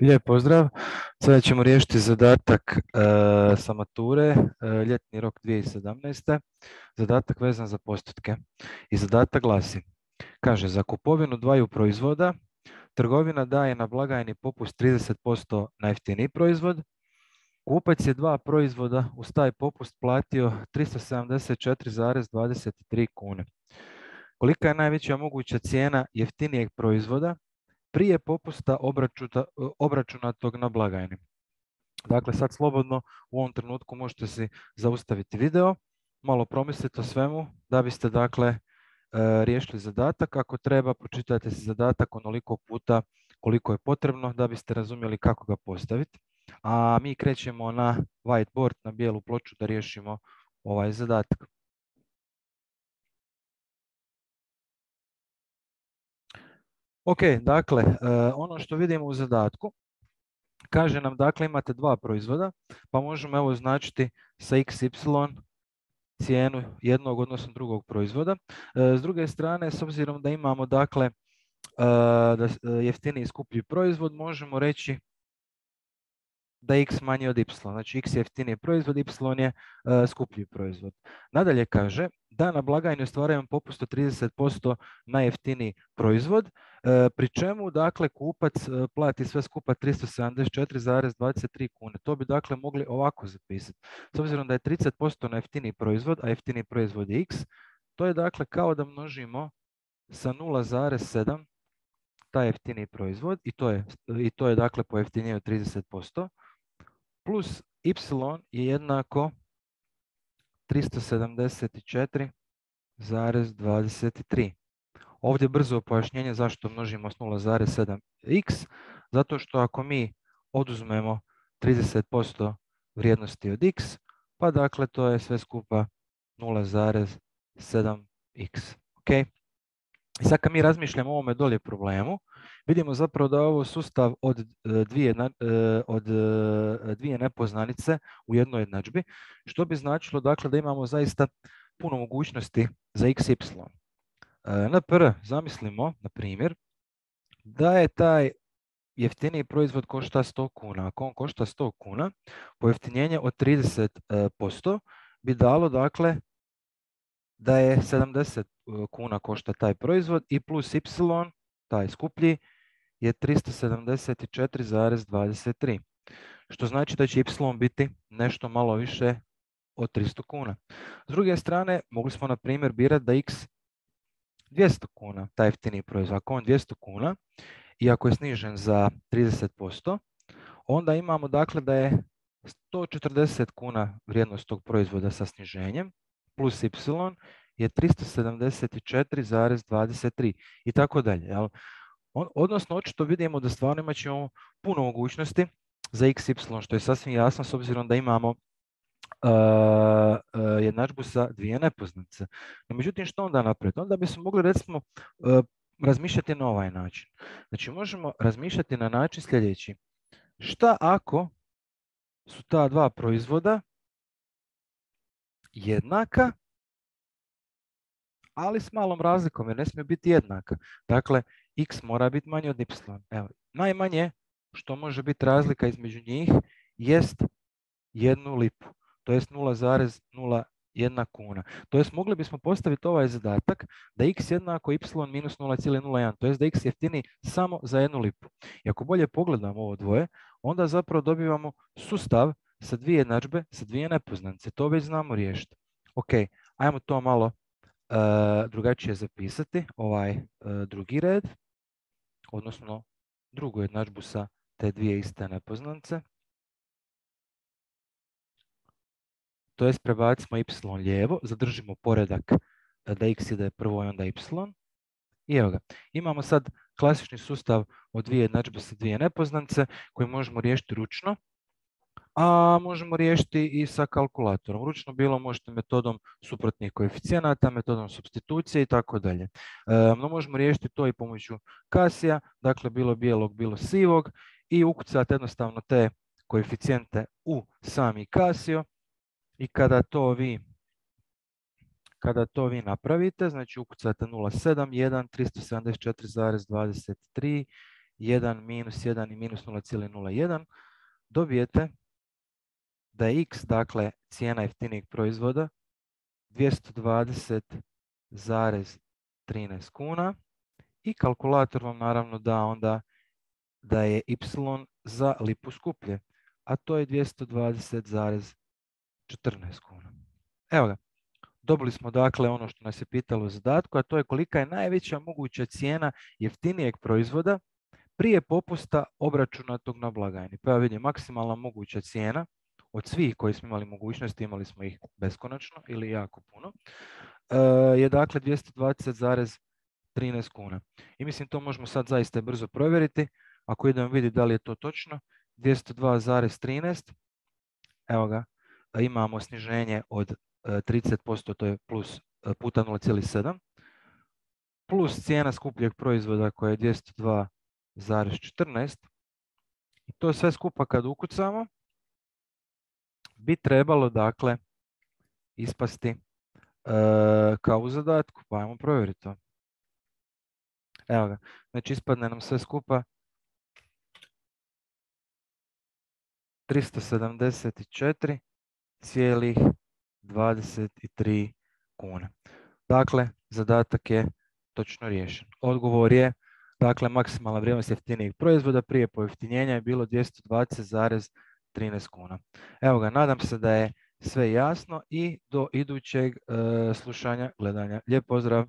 Lijep pozdrav. Sada ćemo riješiti zadatak sa mature, ljetni rok 2017. Zadatak vezan za postotke. I zadatak glasi, kaže, za kupovinu dvaju proizvoda trgovina daje na blagajni popust 30% na jeftiniji proizvod. Kupac je dva proizvoda uz taj popust platio 374,23 kune. Kolika je najveća moguća cijena jeftinijeg proizvoda prije popusta obračunatog na blagajni? Dakle, sad slobodno u ovom trenutku možete si zaustaviti video, malo promisliti o svemu da biste dakle riješili zadatak. Ako treba, pročitajte si zadatak onoliko puta koliko je potrebno da biste razumjeli kako ga postaviti. A mi krećemo na whiteboard, na bijelu ploču da riješimo ovaj zadatak. Ok, dakle, ono što vidimo u zadatku, kaže nam, dakle, imate dva proizvoda, pa možemo evo označiti sa XY cijenu jednog odnosno drugog proizvoda. S druge strane, s obzirom da imamo, dakle, jeftiniji i skuplji proizvod, možemo reći da je x manji od y. Znači, x je jeftiniji proizvod, y je skuplji proizvod. Nadalje kaže da na blagajni ostvarujemo popust od 30% na jeftiniji proizvod, pri čemu, dakle, kupac plati sve skupa 374,23 kune. To bi, dakle, mogli ovako zapisati. S obzirom da je 30% na jeftiniji proizvod, a jeftiniji proizvod je x, to je, dakle, kao da množimo sa 0,7 taj jeftiniji proizvod i to je dakle pojeftinjenje od 30%, plus y je jednako 374,23. Ovdje brzo pojašnjenje zašto množimo s 0,7x, zato što ako mi oduzmemo 30% vrijednosti od x, pa dakle to je sve skupa 0,7x. Ok? I sad kad mi razmišljamo o ovome dolje problemu, vidimo zapravo da je ovo sustav od dvije nepoznanice u jednoj jednadžbi, što bi značilo, dakle, da imamo zaista puno mogućnosti za x, y. Zamislimo, na primjer, da je taj jeftiniji proizvod košta 100 kuna. Ako on košta 100 kuna, pojeftinjenje od 30% bi dalo, dakle, da je 70 kuna košta taj proizvod i plus y, taj skuplji, je 374,23. Što znači da će y biti nešto malo više od 300 kuna. S druge strane, mogli smo na primjer birati da x 200 kuna, taj jeftiniji proizvod. Ako on 200 kuna i ako je snižen za 30%, onda imamo, dakle, da je 140 kuna vrijednost tog proizvoda sa sniženjem, plus y je 374,23 i tako dalje. Odnosno, očito vidimo da stvarno imat ćemo puno mogućnosti za x, y, što je sasvim jasno s obzirom da imamo jednadžbu sa dvije nepoznanice. No, međutim, što onda napraviti? Onda bismo mogli, recimo, razmišljati na ovaj način. Znači, možemo razmišljati na način sljedeći. Šta ako su ta dva proizvoda jednaka, ali s malom razlikom, jer ne smije biti jednaka. Dakle, x mora biti manje od y. Evo, najmanje što može biti razlika između njih jest 1 lipu, to jest 0,01 kuna. To jest mogli bismo postaviti ovaj zadatak da x jednako y minus 0,01, to jest da x jeftini samo za 1 lipu. I ako bolje pogledamo ovo dvoje, onda zapravo dobivamo sustav sa dvije jednadžbe, sa dvije nepoznanice. To već znamo riješiti. Ok, ajmo to malo drugačije zapisati, ovaj drugi red, odnosno drugu jednadžbu sa te dvije iste nepoznanice. To jest prebacimo y lijevo, zadržimo poredak da x ide prvo i onda y. I evo ga, imamo sad klasični sustav od dvije jednadžbe sa dvije nepoznanice koji možemo riješiti ručno, a možemo riješiti i sa kalkulatorom. Ručno bilo možete metodom suprotnih koeficijenata, metodom supstitucije i tako dalje. No možemo riješiti to i pomoću kasija, dakle bilo bijelog, bilo sivog, i ukucati jednostavno te koeficijente u sami kasio. I kada to vi napravite, znači ukucate 0,7, 1, 374,23 1, minus 1 i minus 0,01, dobijete da je x, dakle, cijena jeftinijeg proizvoda 220,13 kuna i kalkulator vam naravno da onda da je y za lipu skuplje, a to je 220,14 kuna. Evo ga, dobili smo dakle ono što nas je pitalo u zadatku, a to je kolika je najveća moguća cijena jeftinijeg proizvoda prije popusta obračunatog na blagajni. Pa ja vidim, maksimalna moguća cijena od svih koji smo imali mogućnosti, imali smo ih beskonačno ili jako puno, je dakle 220,13 kuna. I mislim to možemo sad zaista brzo provjeriti. Ako idemo vidjeti da li je to točno, 202,13, evo ga, imamo sniženje od 30%, to je plus puta 0,7, plus cijena skupljeg proizvoda koja je 202,14 i to sve skupa kad ukucamo bi trebalo dakle ispasti kao u zadatku, pa ajmo provjeriti to. Evo ga, znači ispadne nam sve skupa 374,23 kune. Dakle, zadatak je točno riješen. Odgovor je, dakle, maksimalna vrijednost jeftinijeg proizvoda prije pojeftinjenja je bilo 220,13 kuna. Evo ga, nadam se da je sve jasno i do idućeg slušanja, gledanja. Lijep pozdrav!